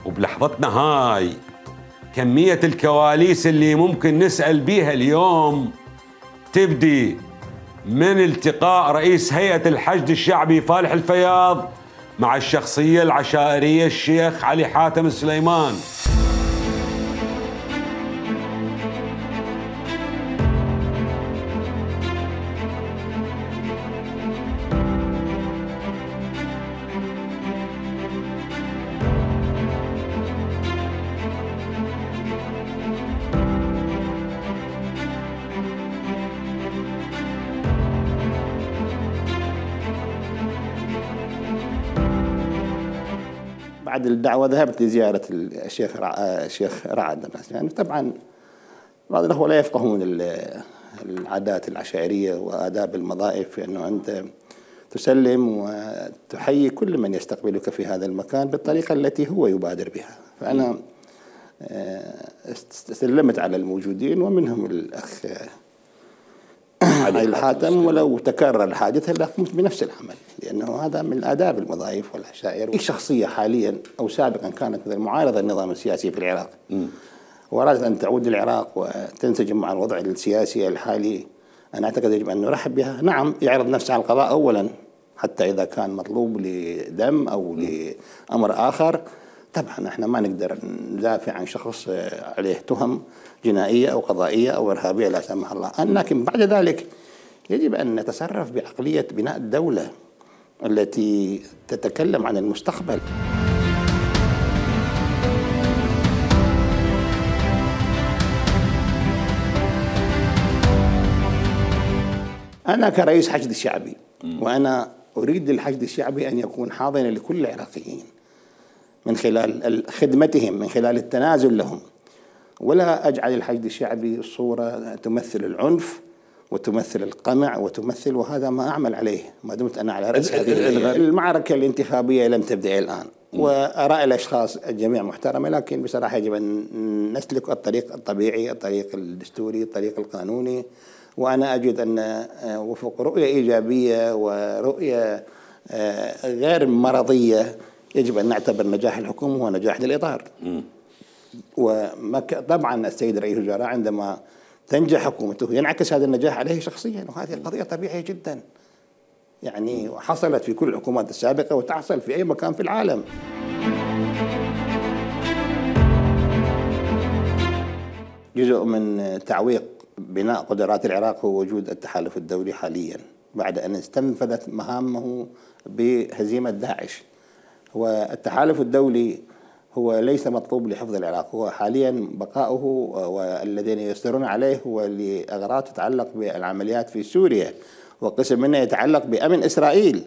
وبلحظتنا هاي كمية الكواليس اللي ممكن نسأل بيها اليوم تبدي من التقاء رئيس هيئة الحشد الشعبي فالح الفياض مع الشخصية العشائرية الشيخ علي حاتم السليمان. بعد الدعوة ذهبت لزيارة الشيخ رعد. يعني طبعا بعض الأخوة لا يفقهون العادات العشائرية وآداب المضائف، أنه أنت تسلم وتحيي كل من يستقبلك في هذا المكان بالطريقة التي هو يبادر بها. فأنا سلمت على الموجودين ومنهم الأخ علي الحاتم، ولو تكرر الحادث لقمت بنفس العمل، لأنه هذا من آداب المضايف والعشائر. أي شخصية حاليا أو سابقا كانت مثل معارضة النظام السياسي في العراق وأرادت أن تعود للعراق وتنسجم مع الوضع السياسي الحالي، أنا أعتقد يجب أن نرحب بها. نعم، يعرض نفسه على القضاء أولا حتى إذا كان مطلوب لدم أو لأمر آخر. طبعا احنا ما نقدر ندافع عن شخص عليه تهم جنائية أو قضائية أو إرهابية لا سمح الله، لكن بعد ذلك يجب أن نتصرف بعقلية بناء الدولة التي تتكلم عن المستقبل. أنا كرئيس حشد الشعبي وأنا أريد للحشد الشعبي أن يكون حاضنا لكل العراقيين من خلال خدمتهم، من خلال التنازل لهم، ولا أجعل الحشد الشعبي صورة تمثل العنف وتمثل القمع وهذا ما أعمل عليه ما دمت أنا على رأس هذه المعركة الانتخابية. لم تبدأ الآن، وآراء الأشخاص الجميع محترمة، لكن بصراحة يجب أن نسلك الطريق الطبيعي، الطريق الدستوري، الطريق القانوني. وأنا أجد أن وفق رؤية إيجابية ورؤية غير مرضية يجب أن نعتبر نجاح الحكومة هو نجاح للإطار. طبعا السيد رئيس الوزراء عندما تنجح حكومته ينعكس هذا النجاح عليه شخصيا، وهذه قضية طبيعية جدا، يعني حصلت في كل الحكومات السابقة وتحصل في أي مكان في العالم. جزء من تعويق بناء قدرات العراق هو وجود التحالف الدولي حاليا بعد أن استنفذت مهامه بهزيمة داعش. والتحالف الدولي هو ليس مطلوب لحفظ العراق، هو حاليا بقاؤه والذين يصدرون عليه هو لأغراض تتعلق بالعمليات في سوريا، وقسم منها يتعلق بأمن إسرائيل.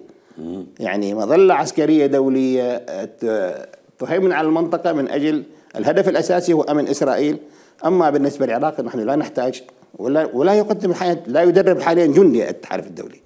يعني مظلة عسكرية دولية تهيمن على المنطقة من أجل الهدف الأساسي هو أمن إسرائيل. أما بالنسبة للعراق نحن لا نحتاج ولا يقدم لا يدرب حاليا جندي التحالف الدولي.